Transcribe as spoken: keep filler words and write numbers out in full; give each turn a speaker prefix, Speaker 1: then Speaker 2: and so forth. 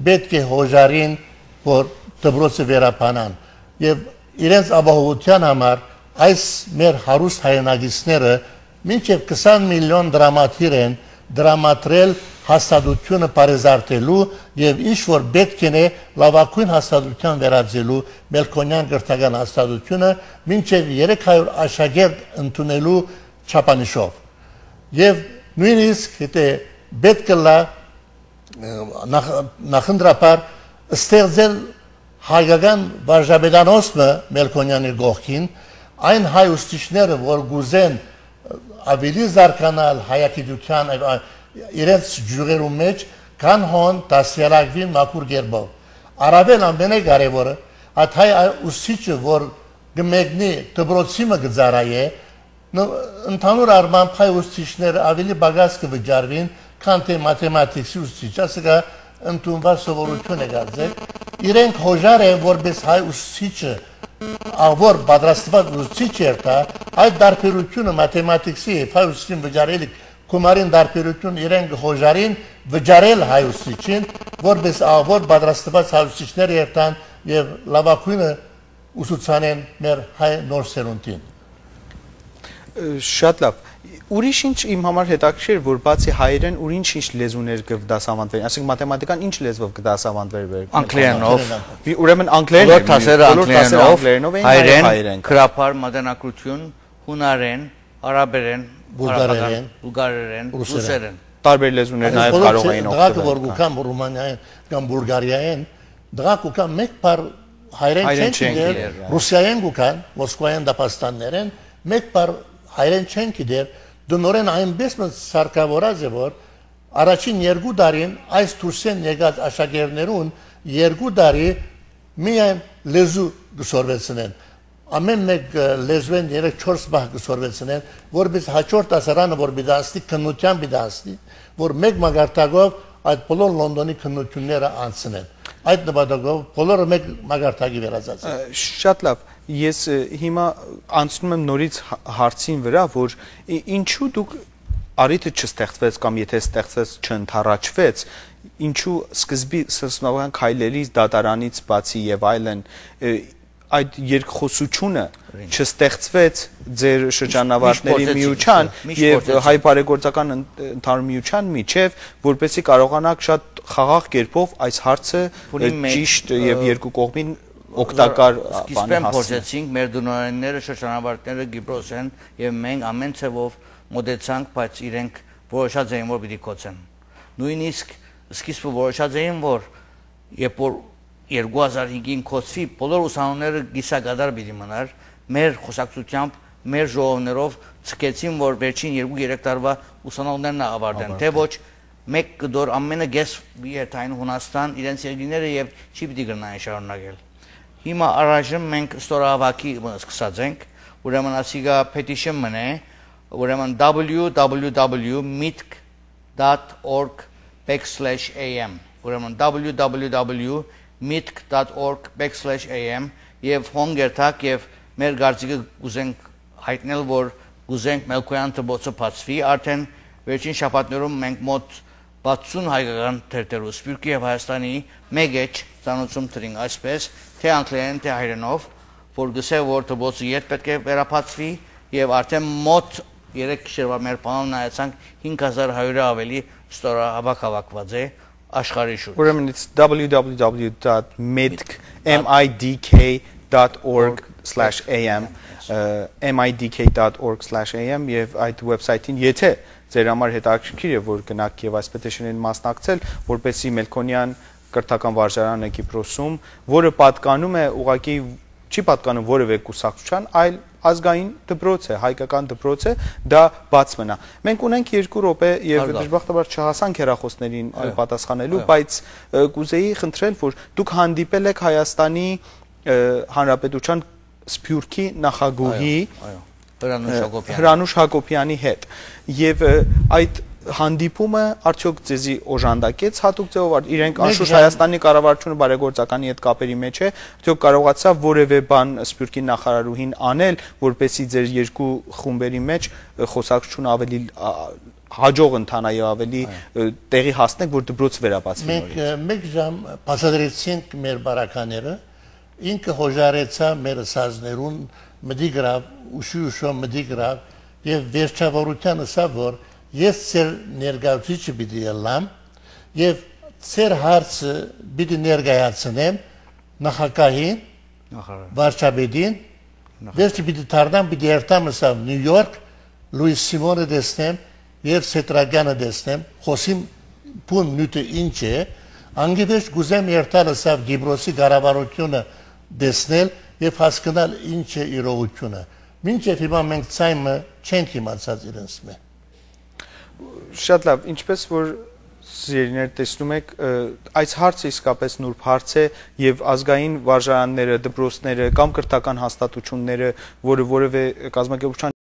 Speaker 1: պետք է հոժարին, որ դպրոցը վերապանան։ Եվ իրենց ապահովության համար այս մեր հարուստ հայրենագիցները մինչև քսան միլիոն դրամատիր են դրամատրել հաստատությունը պարեզարտելու եւ ինչ որ պետք է լավագույն հաստատության վերածելու Մելքոնյան գրթական հաստատությունը մինչև երեք հարյուր աշակերտ ընդունելու չափանիշով եւ նույնիսկ եթե պետք է լա նախընտրապար ստեղծել հայկական վարժապետանոցը Մելքոնյանի գողքին այն հայ ուսուցիչները որ գուզեն ավելի զարգանալ հայագիտության իրենց ջուրերու մեջ կան հոն դասյարակվին մաքուր գերբով առավել ամենակարևորը այդ հայ ուսուցիչը որ գմեգնի դպրոցի մը գծարայե ընդհանուր առմամբ հայ ուսուցիչները ավելի բագաս կվճարվին քան թե մաթեմատիկի ուսուցիչ ասկա ընդունված սովորություն է գազել իրենք հոժար են որպես հայ ուսուցիչը ավոր պատրաստված ուսուցիչ էր դա այդ դարբերությունը մաթեմատիկի հայ ուսուցիչին վճարելի Կումարին դարբերություն իրենք հոժարին վճարել հայ ուսուցիչին, որպես ավոր պատրաստված հայ ուսուցիչներ երթան եւ լավագույնը ուսուցանեն մեր հայ նոր սերունդին։
Speaker 2: Շատ լավ։ Ուրիշ ինչ իմ համար հետաքրքիր որ բացի հայերեն ուրիշ ինչ լեզուներ կդասավանդվեն, այսինքն մաթեմատիկան ինչ լեզվով կդասավանդվեր։
Speaker 3: Անգլերենով։
Speaker 2: Ուրեմն անգլերեն,
Speaker 3: անգլերենով, հայերեն, քրափար, մատենագրություն, հունարեն, արաբերեն
Speaker 1: Բուլգարերեն,
Speaker 3: բուլգարերեն, ռուսերեն։
Speaker 2: Տարբեր լեզուներ նաև կարող էին օգտվել։
Speaker 1: Դրանք որ գուքան Ռումանիայեն կամ Բուլգարիայեն, դրանք գուքան մեկ բար հայերեն չեն գիտեր, ռուսիայեն գուքան, մոսկվայեն դապաստաններեն, մեկ բար հայերեն չեն գիտեր, դնորեն այնպես սարկավորած է որ առաջին երկու տարին այս դուրսեն եկած աշակերտներուն երկու տարի միայն լեզու գսորվեցնեն ամեն մեկ լեզվեն երեք չորս բահ գսորվեցնեն որպես հաջորդ դասարանը որ բիդանստի քննության բիդանստի որ մեկ մագարտակով այդ բոլոր Լոնդոնի քննությունները անցնեն այդ նպատակով բոլորը մեկ մագարտակի վերածած
Speaker 2: շատ լավ ես հիմա անցնում եմ նորից հարցին վրա որ ինչու դուք արիթը չստեղծվեց կամ եթե ստեղծվեց չընդառաջվեց ինչու սկզբի սկզբնական քայլերից դատարանից բացի եւ այլն այդ երկխոսությունը չստեղծվեց ձեր շրջանավարտների միության եւ հայ բարեգործական ընդհանուր միության միջև որպեսզի կարողանաք շատ խաղաղ կերպով այս հարցը ճիշտ եւ երկու կողմին օգտակար
Speaker 3: բանի հասցնել։ Փորձեցինք մեր դնորենները շրջանավարտները Գիբրոս են եւ մենք ամեն ցևով մոդեցանք, բայց իրենք որոշած էին որ պիտի կոչեն։ Նույնիսկ սկիզբը որոշած էին որ երբ որ երկու հազար հինգին կոչվի բոլոր ուսանողները գիսակադար պիտի մնար մեր խոսակցությամբ մեր ժողովներով ցկեցին որ վերջին երկու երեք տարվա ուսանողներն ավարտեն թե ոչ մեկ կդոր ամենը գես երթային Հունաստան իրենց երկիները եւ չի պիտի գնային շարունակել հիմա առայժմ մենք ստորահավաքի սկսած ենք ուրեմն ասիգա petition մնե ուրեմն w w w dot mitk dot org backslash a m ուրեմն w w w dot mitk dot org backslash a m եւ հոնգերտակ եւ մեր գարցիկը գուզենք հայտնել որ գուզենք Մելքոյան դպրոցը բացվի արդեն վերջին շաբաթներում մենք մոտ բացուն հայկական թերթերու Սփյուռքի եւ Հայաստանի մեկ էջ ցանոթում տրինք այսպես թե անգլերեն թե հայերենով որ գսե որ դպրոցը երբ պետք է վերապացվի եւ արդեն մոտ երեք գիշերվա մեր բանով նայեցանք հինգ հազար հարյուր ավելի ստորահավաք հավաքված է աշխարհի շուրջ
Speaker 2: ուրեմն it's w w w dot mitk dot org slash a m mitk dot org slash a m եւ այդ website-ին եթե ձեր համար հետաքրքիր է որ գնաք եւ այս petition-ին մասնակցել որպեսզի Մելքոնյան կրթական վարժարանը Կիպրոսում որը պատկանում է ուղղակի չի պատկանում որևէ կուսակցության այլ ազգային դպրոց է հայկական դպրոց է դա բաց մնա մենք ունենք երկու րոպե եւ դժբախտաբար չհասանք հեռախոսներին պատասխանելու բայց կուզեի խնդրել որ դուք հանդիպել եք Հայաստանի Հանրապետության Սփյուռքի նախագահի Հրանուշ Հակոբյանի հետ եւ այդ հանդիպումը արդյոք ձեզի օժանդակեց հատուկ ձևով իրենք անշուշտ Հայաստանի կառավարությունը բարեգործականի հետ կապերի մեջ է արդյոք կարողացավ որևէ բան Սփյուռքի նախարարուհին անել որպեսզի ձեր երկու խումբերի մեջ խոսակցությունը ավելի հաջող ընթանա եւ ավելի տեղի հասնենք, որ դպրոց վերաբացվի։
Speaker 1: Մենք մեկ ժամ բացատրեցինք մեր բարակաները, ինքը հոժարեցա մեր սազներուն մդիգրավ, ուշի-ուշո մդիգրավ եւ վերջավորության ասա, որ ես ծեր ներկայացուցիչը պիտի ելամ եւ ծեր հարցը պիտի ներկայացնեմ նախագահին, վարչապետին, վերջը պիտի դառնամ, պիտի երթամ ասա Նյու Յորք, Լուիս Սիմոնը դեսնեմ եւ Սետրագյանը դեսնեմ, խոսիմ բուն նյութը ինչ է, անգևեջ գուզեմ երթալ ասա Գիբրոսի կառավարությունը դեսնել եւ հասկանալ ինչ է իրողությունը։ Մինչեւ հիմա մենք ցայմը չենք իմացած իրենց մե։
Speaker 2: Շատ լավ, ինչպես որ սիրելիներ տեսնում եք, այս հարցը իսկապես նուրբ հարց է եւ ազգային վարժարանները, դպրոցները կամ կրթական հաստատությունները, որը որևէ կազմակերպության